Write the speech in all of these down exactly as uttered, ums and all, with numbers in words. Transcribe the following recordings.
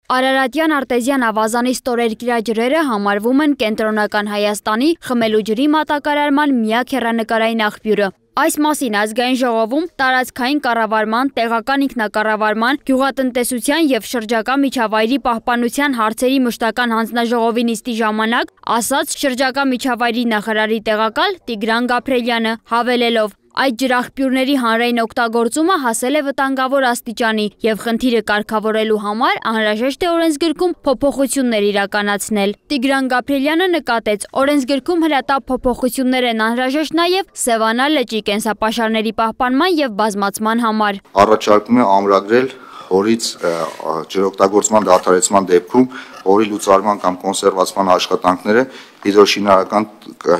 Արարատյան արտեզյան ավազանի ստորերկրաջրերը համարվում են կենտրոնական Հայաստանի խմելու ջրի մատակարարման միակ հեռանկարային աղբյուրը։ Այս մասին ազգային ժողովում տարածքային կառավարման, տեղական ինքնակառավարման, գյուղատնտեսության և շրջակա միջավայրի պահպանության հարցերի մշտական հանձնաժողովի նիստի ժամանակ ասաց շրջակա միջավայրի նախարարի տեղակալ Տիգրան Գաբրելյանը, հավելելով. Այդ ջրաղբյուրների հանրային օգտագործումը հասել է վտանգավոր աստիճանի և խնդիրը կարգավորելու համար անհրաժեշտ է օրենսգրքում փոփոխություններ իրականացնել։ Տիգրան Գաբրելյանը նկատեց, օրենսգրքում հրատապ փոփոխություններ են անհրաժեշտ նաև Սևանա լճի կենսապաշարների պահպանման և բազմացման համար։ Առաջարկում է ամրագրել հորից ջրօգտագործման դադարեցման դեպքում հորի լուծարման կամ կոնսերվացման աշխատանքները հիդրոշինարական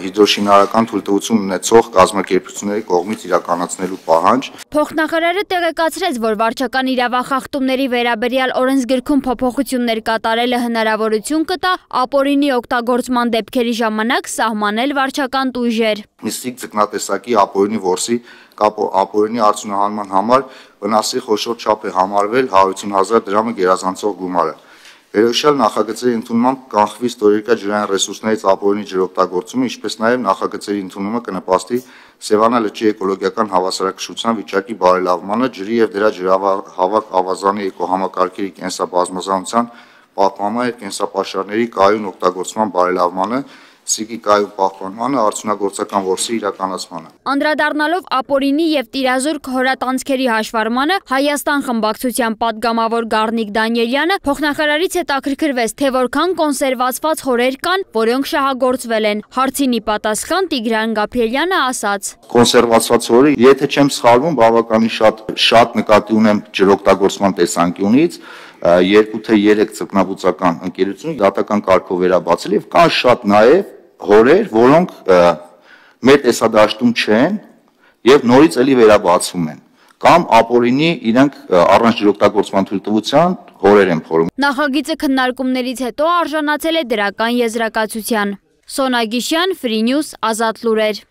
հիդրոշինարական թույլտվություն ունեցող կազմակերպությունների կողմից իրականացնելու պահանջ։ Փոխնախարարը տեղեկացրեց, որ վարչական իրավախախտումների վերաբերյալ օրենսգրքում փոփոխություններ կատարելը հնարավորություն կտա ապօրինի օգտագործման դեպքերի ժամանակ սահմանել վարչական տույժեր։ Միստիկ ձկնատեսակի ապօրինի որսի կապ ապօրինի արդյունահանման համար վնասի խոշոր չափ է համարվել հարյուրություն հազար դրամը գերազանցող գումարը։ Վերոհիշյալ նախագծերի ընդունմամբ կանխվի ստորերկրյա ջրային ռեսուրսներից ապօրինի ջրօգտագործումը, ինչպես նաև նախագծերի ընդունումը կնպաստի Սևանա լճի էկոլոգիական հավասարակշռության վիճակի բարելավմանը, ջրի և դրա ջրահավաք ավազանի էկոհամակարգերի կենսաբազմազանության պահպանման և կենսապաշարների կայուն օգտագործման բարելավմանը, սիկիկայում պահպանմանը, արդյունագործական որսի իրականացմանը։ Անդրադառնալով ապօրինի և տիրազուրկ հորատանցքերի հաշվառմանը, Հայաստան խմբակցության պատգամավոր Գառնիկ Դանիելյանը փոխնախարարից հետաքրքրվեց, թե որքան կոնսերվացված հորեր կան, որոնք շահագործվել են։ Հարցին ի պատասխան Տիգրան Գաբրելյանը ասաց. Կոնսերվացված հորը, եթե չեմ սխալվում, բավականին շատ շատ նկատի ունեմ ջրօգտագործման տեսանկյունից, երկու թե երեք ձկնաբուծական ընկերություն դատական կարգով վերաբացել եւ կան շատ նաեւ հորեր, որոնք մեր տեսադաշտում չեն եւ նորից էլի վերաբացվում են կամ ապօրինի իրենք առանց ջրօգտագործման թույլտվության հորեր են փորում։ Նախագիծը քննարկումներից հետո արժանացել է դրական եզրակացության։ Սոնա Գիշյան, Free News, Ազատ լուրեր։